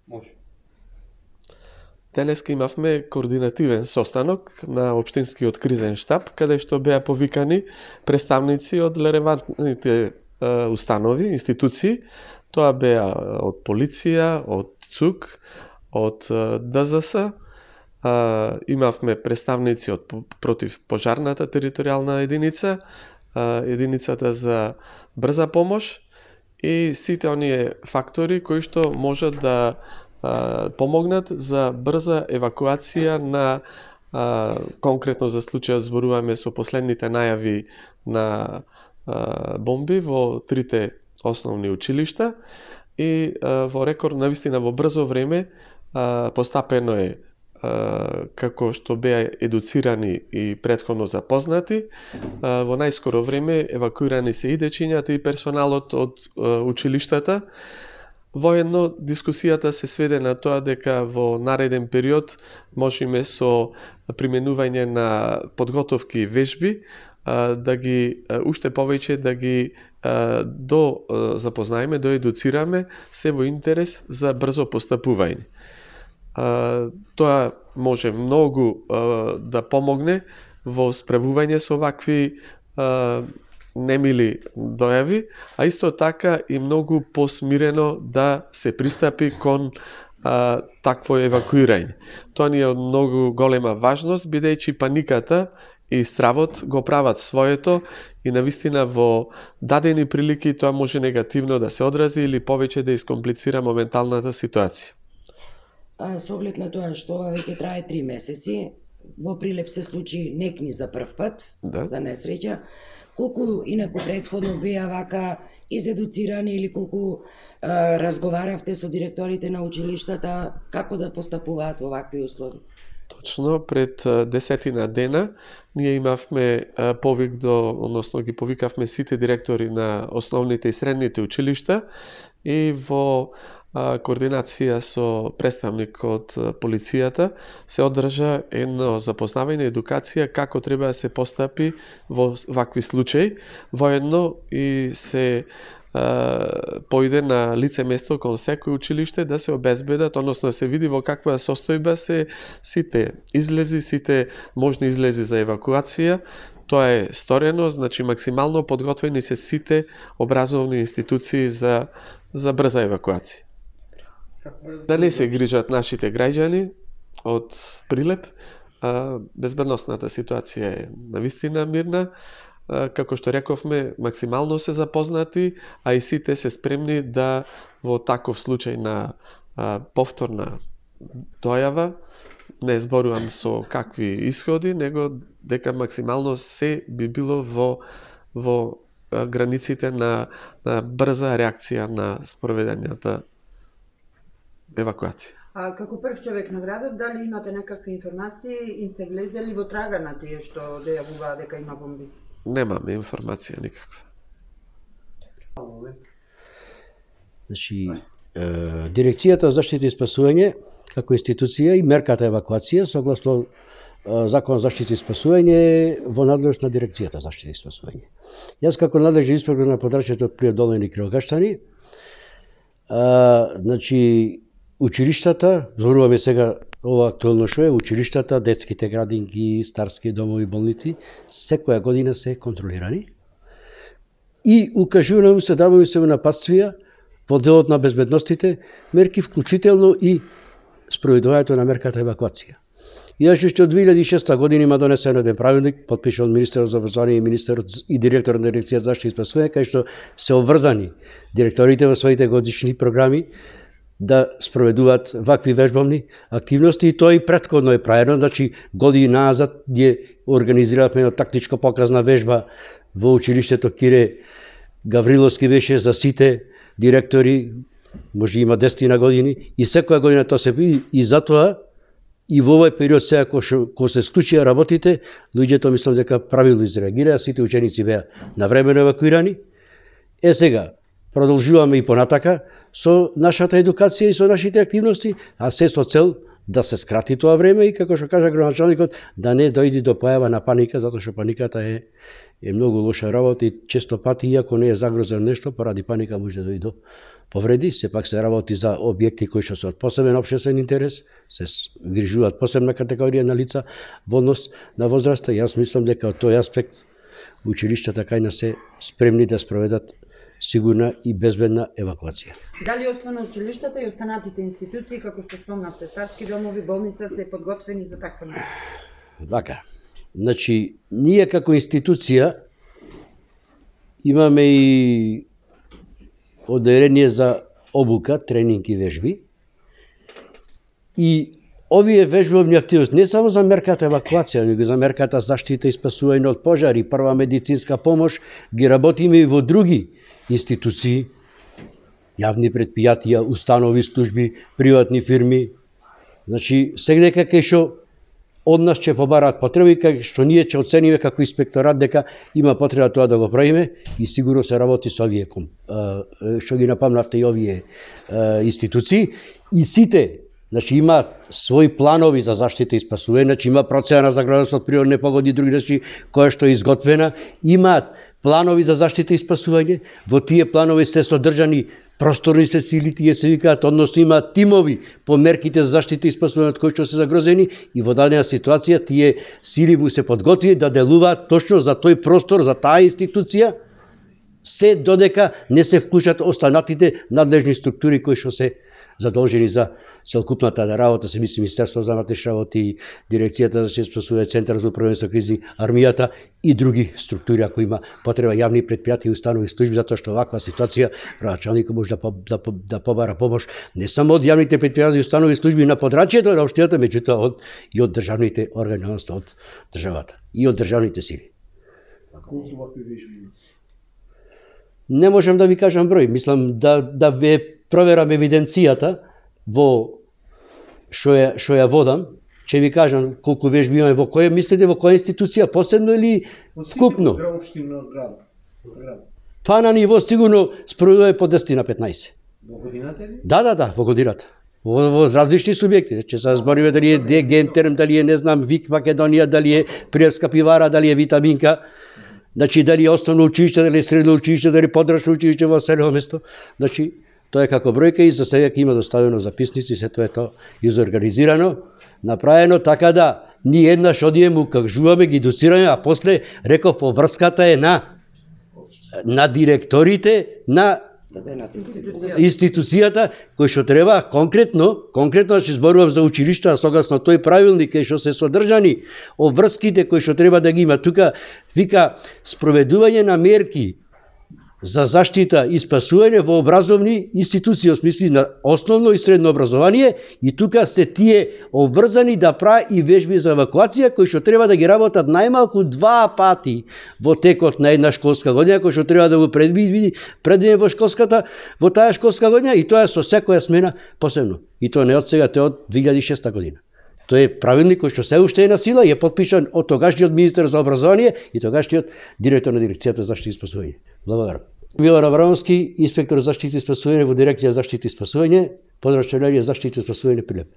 Може. Денеска имавме координативен состанок на Општинскиот кризен штаб, каде што беа повикани представници од релевантните установи, институции. Тоа беа од полиција, од ЦУК, од ДЗС, имавме представници од противпожарната територијална единица, единицата за брза помош и сите оние фактори кои што можат да помогнат за брза евакуација на конкретно за случајот зборуваме со последните најави на бомби во трите основни училишта и во рекорд навистина во брзо време постапено е како што беа едуцирани и претходно запознати. Во најскоро време евакуирани се и дечињата и персоналот од училиштата. Воедно, дискусијата се сведе на тоа дека во нареден период можеме со применување на подготовки и вежби да ги уште повеќе да ги запознаеме, едуцираме се во интерес за брзо постапување. Тоа може многу да помогне во справување со вакви немили дојави, а исто така и многу посмирено да се пристапи кон такво евакуирање. Тоа ни е од многу голема важност, бидејќи паниката и стравот го прават своето и навистина во дадени прилики тоа може негативно да се одрази или повеќе да искомплицира моменталната ситуација. Со оглед на тоа што веќе трае 3 месеци, во Прилеп се случи некни за прв пат, за несреќа, колку инаку претходно беа вака изедуцирани или колку разговаравте со директорите на училиштата како да постапуваат во вакви услови? Точно, пред 10 дена ние имавме повик односно ги повикавме сите директори на основните и средните училишта и во координација со представник од полицијата се одржа едно запознавање, едукација како треба да се постапи во вакви случаи. Воедно и се појде на лице место кон секој училиште да се обезбедат, односно да се види во каква состојба се сите излези, сите можни излези за евакуација. Тоа е сторено, значи максимално подготвени се сите образовни институции за брза евакуација. Да не се грижат нашите граѓани од Прилеп, безбедносната ситуација е навистина мирна. Како што рековме, максимално се запознати, а и сите се спремни да во таков случај на повторна дојава, не зборувам со какви исходи, него дека максимално се би било во границите на брза реакција на спроведената евакуација. А како прв човек на градот, дали имате некакви информации, им се влезели во трага на тие што дојавуваа дека има бомби? Немаме информација никаква. Значи, Дирекцијата за заштита и спасување како институција и мерката евакуација согласно Закон за заштита и спасување во надлежност на Дирекцијата за заштита и спасување. Јас како надлежен инспектор на подрачјето Прилеп Долни и Крилгаштани, значи училиштата, зборуваме сега ова актуелно што е, училиштата, детските градинки, старски домови, болници, секоја година се контролирани и укажуваме се, даваме се напатствија во делот на безбедностите, мерки вклучително и спроведувањето на мерката евакуација. Јас уште од 2006 година има донесен еден правилник, подпишан од министерот за образование и министерот и директорот на Дирекцијата за заштита и спасување, кај што се обврзани директорите во своите годишни програми да спроведуваат вакви вежбовни активности и тоа и претходно е правено, значи години назад ги организиравме една тактичко показна вежба во училиштето Кире Гавриловски беше за сите директори, може има 10 години и секоја година тоа се и затоа и во овој период сега кога се случија работите, луѓето мислам дека правилно изреагираа, сите ученици беа навремено евакуирани. Сега продолжуваме и понатака со нашата едукација и со нашите активности, а се со цел да се скрати тоа време и како што кажа градоначалникот, да не дојде до појава на паника, затоа што паниката е многу лоша работа и често пати, иако не е загрозено нешто, поради паника може да дојде повреди, сепак се работи за објекти кои што се од посебен општествен интерес, се грижуваат посебна категорија на лица во однос на возраста. Јас мислам дека од тој аспект училиштата кај нас се спремни да спроведат сигурна и безбедна евакуација. Дали освен училиштата и останатите институции, како што спомнавте, старски домови, болница, се подготвени за таква нешто? Вака. Значи, ние како институција имаме и оделение за обука, тренинг и вежби. И овие вежбовни активности не само за мерката евакуација, но и за мерката заштита и спасување од пожари, прва медицинска помош, ги работиме и во други институции, јавни предпријатија, установи, служби, приватни фирми. Значи, сегдека кај што од нас ќе побараат потреби, кај што ние ќе оцениме како инспекторат дека има потреба тоа да го правиме и сигурно се работи со овие што ги напомнавте и овие институции и сите. Значи има своји планови за заштита и спасување, значи има процена за загроза од природни непогоди и други нешта која што е изготвена, имаат планови за заштита и спасување, во тие планови се содржани просторни се сили, тие се викаат, односно имаат тимови по мерките за заштита и спасување од кои што се загрозени и во дадена ситуација тие сили му се подготви да делуваат точно за тој простор, за таа институција, се додека не се вклучат останатите надлежни структури кои што се задолжени за целокупната работа, се мисли Министерството за внатрешни работи, Дирекцијата за заштита и спасување, Центар за управување со кризи, армијата и други структури ако има потреба, јавни предпријатија и установи служби, затоа што ваква ситуација градоначалникот може да побара помош не само од јавните предпријатија и установи служби на подрачјето на општината, меѓутоа и од државните органи, односно од државата и од државните сили. А колку вакви вежби? Не можам да ви кажам број, мислам да ве проверам евиденцијата во што ја водам, ќе ви кажам колку вежби имаме, во која мислите, во која институција, посебно или вкупно? Од општина град. Па на ниво сигурно спроведува по 10 на 15. Во годината ли? Да, во годината. Во различни субјекти, че се збориме дали е Гентерм, дали е не знам Вик Македонија, дали е Приевска пивара, дали е Витаминка. Значи дали е основно училиште, дали е средно училиште, дали подрачно училиште во село место. Значи тоа е како бројка и за сега ќе има доставено записници, се тоа е тоа изорганизирано, направено така да ние еднаш одиме, кажуваме, ги доцираме, а после реков поврската е на директорите на институцијата кои што треба конкретно ќе зборувам за училишта согласно тој правилник кај што се содржани обврските кои што треба да ги има тука, вика спроведување на мерки за заштита и спасување во образовни институции, во смисли на основно и средно образование, и тука се тие обврзани да прават и вежби за евакуација кои што треба да ги работат најмалку 2 пати во текот на една школска година, кои што треба да го предвидиме во таа школска година и тоа е со секоја смена посебно. И тоа не од сега, тоа од 2006 година. Тоа е правилник кој што се уште е на сила и е подпишан од тогашниот министер за образование и тогашниот директор на Дирекцијата за заштита и спасување. Благодарам. Милан Аврамовски, инспектор за заштита и спасување во Дирекција за заштита и спасување, подрачно за заштита и спасување Прилеп.